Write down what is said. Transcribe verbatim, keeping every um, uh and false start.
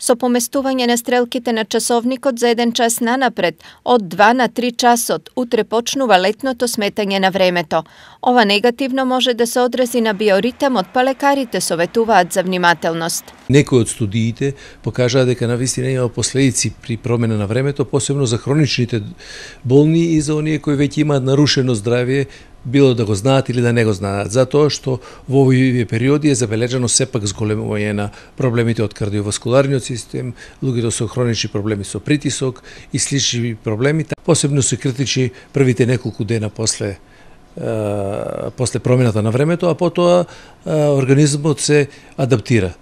со поместување на стрелките на часовникот за еден час нанапред, од два на три часот, утре почнува летното сметање на времето. Ова негативно може да се одрази на биоритмот, па лекарите советуваат за внимателност. Некои од студиите покажаа дека навистина има последици при промена на времето, посебно за хроничните болни и за оние кои веќе имаат нарушено здравје, било да го знаат или да не го знаат, затоа што во овие периоди е забележано сепак зголемување на проблемите од кардиоваскуларниот систем, луѓето со хронични проблеми со притисок и слични проблеми, посебно се критични првите неколку дена после после промената на времето, а потоа организмот се адаптира.